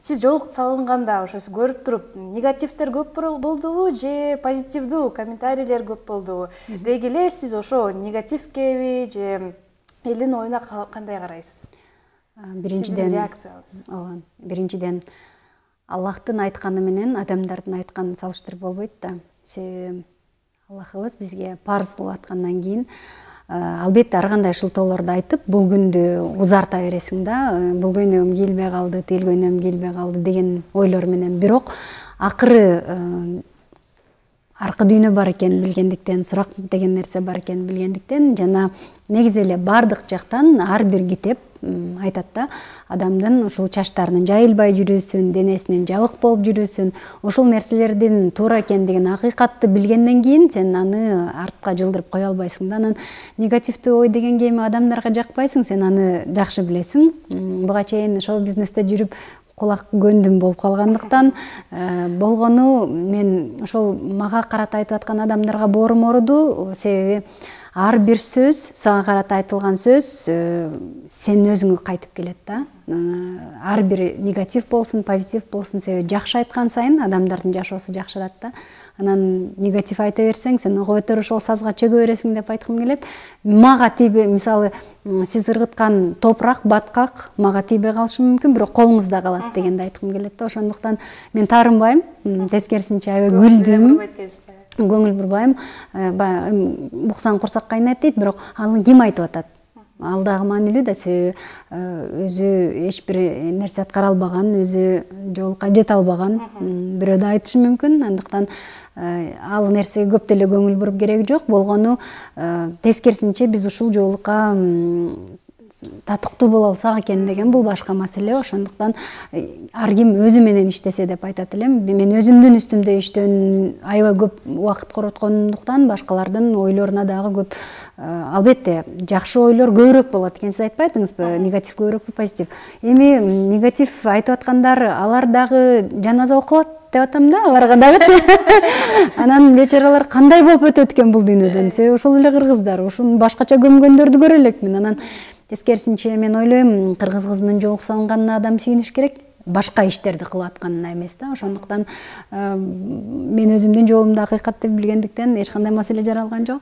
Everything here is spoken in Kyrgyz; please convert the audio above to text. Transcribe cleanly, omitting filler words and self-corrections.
сиз жол салынганда ошо көрүп туруп негативдер көп болдубу же позитивдүү комментарийлер көп болдубу? Деги эле сиз ошо негативкеби же элдин оюна кандай карайсыз? Биринчиден реакциябыз. Ооба. Биринчиден Аллахтын айтканы менен адамдардын айтканын салыштырып болбойт да. Себеби Аллахыбыз бизге парз кылып аткандан кийин албетте ар кандай шылтоолорду айтып, бул күндү узарта бересиң да, бул көйнөгүм кийилбей калды, тил көйнөгүм кийилбей калды деген ойлор менен. Бирок акыры аркы дүйнө бар экенин билгендиктен, сурак деген нерсе бар экенин билгендиктен жана негизи эле бардык жактан ар бир китеп айтат да, адамдын ушул чачтарынын жайылбай жүрүүсүн, денесинин жабык болуп жүрүүсүн, ушул нерселердин туура экендигин, акыйкатты билгенден кийин сен аны артка жылдырып кое албайсың да. Анан негативдүү ой дегенге эми адамдарга жакпайсың, сен аны жакшы билесиң. Буга чейин шоу бизнесте жүрүп кулак көндүм болуп калгандыктан болгону мен ошол мага карата айтып аткан адамдарга боорум ооруду. Себеби ар бир сөз, сага карата айтылган сөз сен өзүңө кайтып келет да. Ар бир негатив болсун, позитив болсун, себеби жакшы айткан сайын адамдардын жашоосу жакшырат да. Анан негатив айта берсең, сен ого бетер ошол сазга чөгө бересиң деп айткым келет. Мага тийбей, мисалы, сиз ыргыткан топурак, баткак мага тийбей калышы мүмкүн, бирок колуңузда калат дегенди айткым келет да. Ошондуктан мен таарынбайм, тескерисинче аябай күлдүм. Көңүл бурбайм. Буксаң курсак кайнайт дейт, бирок аны ким айтып атат? Ал дагы маанилүү да, себеби өзү эч бир нерсе аткара албаган, өзү жолука жете албаган бирөө да айтышы мүмкүн. Андыктан ал нерсеге көп деле көңүл буруп кереги жок. Болгону тескерисинче биз ушул жолука татыктуу боло алсак экен деген бул башка маселе. Ошондуктан ар ким өзү менен иштесе деп айтат элем. Мен өзүмдүн үстүмдө иштөөнүн аябай көп убакыт короткондуктан башкалардын ойлоруна дагы көп, албетте жакшы ойлор көбүрөөк болот экен. Сиз айтпайдыңызбы, негатив көбүрөөкпү, позитив? Эми негатив айтып аткандар, алар дагы жаназа окулат деп атам да, аларга дагычы. Анан бечаралар кандай болуп өтөт экен бул дүйнөдөн? Себеби ошол эле кыргыздар, ушуну башкача көмгөндөрдү көрө элекмин. Анан тескерисинче мен ойлойм, кыргыз кызынын жолу салынганына адам сүйүнүш керек, башка иштерди кылып атканына эмес да. Ошондуктан мен өзүмдүн жолумду акыйкат деп билгендиктен эч кандай маселе жаралган жок.